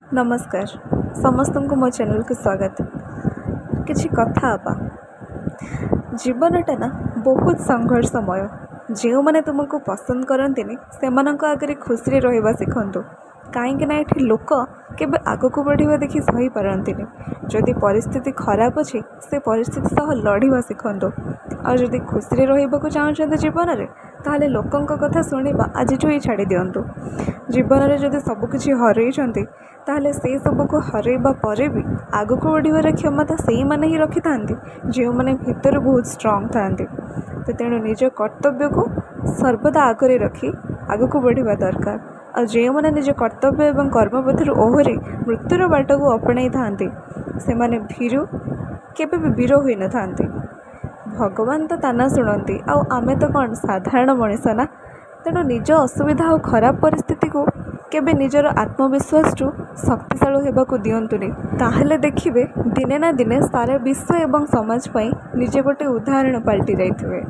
ନମସ୍କାର, ସମସ୍ତଙ୍କୁ ମୋ ଚ୍ୟାନେଲକୁ ସ୍ୱାଗତ। କିଛି କଥା ହେବା। ଜୀବନଟା ନା ବହୁତ ସଂଘର୍ଷମୟ। ଯେଉଁମାନେ ତୁମକୁ ପସନ୍ଦ କରନ୍ତିନି, ସେମାନଙ୍କ ଆଗରେ ଖୁସିରେ ରହିବା ଶିଖନ୍ତୁ, କାହିଁକି ନା ଏଠି ଲୋକ କେବେ ଆଗକୁ ବଢ଼ିବା ଦେଖି ସହିପାରନ୍ତିନି। ଯଦି ପରିସ୍ଥିତି ଖରାପ ଅଛି, ସେ ପରିସ୍ଥିତି ସହ ଲଢ଼ିବା ଶିଖନ୍ତୁ। ଆଉ ଯଦି ଖୁସିରେ ରହିବାକୁ ଚାହୁଁଛନ୍ତି ଜୀବନରେ, ତାହେଲେ ଲୋକଙ୍କ କଥା ଶୁଣିବା ଆଜିଠୁ ହିଁ ଛାଡ଼ି ଦିଅନ୍ତୁ। ଜୀବନରେ ଯଦି ସବୁକିଛି ହରେଇଛନ୍ତି, ତାହେଲେ ସେସବୁକୁ ହରେଇବା ପରେ ବି ଆଗକୁ ବଢ଼ିବାର କ୍ଷମତା ସେଇମାନେ ହିଁ ରଖିଥାନ୍ତି, ଯେଉଁମାନେ ଭିତରୁ ବହୁତ ଷ୍ଟ୍ରଙ୍ଗ ଥାଆନ୍ତି। ତ ତେଣୁ ନିଜ କର୍ତ୍ତବ୍ୟକୁ ସର୍ବଦା ଆଗରେ ରଖି ଆଗକୁ ବଢ଼ିବା ଦରକାର। ଆଉ ଯେଉଁମାନେ ନିଜ କର୍ତ୍ତବ୍ୟ ଏବଂ କର୍ମପଥରୁ ଓହରି ମୃତ୍ୟୁର ବାଟକୁ ଅପଣାଇଥାନ୍ତି, ସେମାନେ ଭୀରୁ କେବେ ବି ବୀର ହୋଇନଥାନ୍ତି। ଭଗବାନ ତ ତାନା ଶୁଣନ୍ତି, ଆଉ ଆମେ ତ କ'ଣ ସାଧାରଣ ମଣିଷ ନା? ତେଣୁ ନିଜ ଅସୁବିଧା ଆଉ ଖରାପ ପରିସ୍ଥିତିକୁ କେବେ ନିଜର ଆତ୍ମବିଶ୍ୱାସଠୁ ଶକ୍ତିଶାଳୀ ହେବାକୁ ଦିଅନ୍ତୁନି। ତାହେଲେ ଦେଖିବେ, ଦିନେ ନା ଦିନେ ସାରା ବିଶ୍ୱ ଏବଂ ସମାଜ ପାଇଁ ନିଜେ ଗୋଟେ ଉଦାହରଣ ପାଲଟି ଯାଇଥିବେ।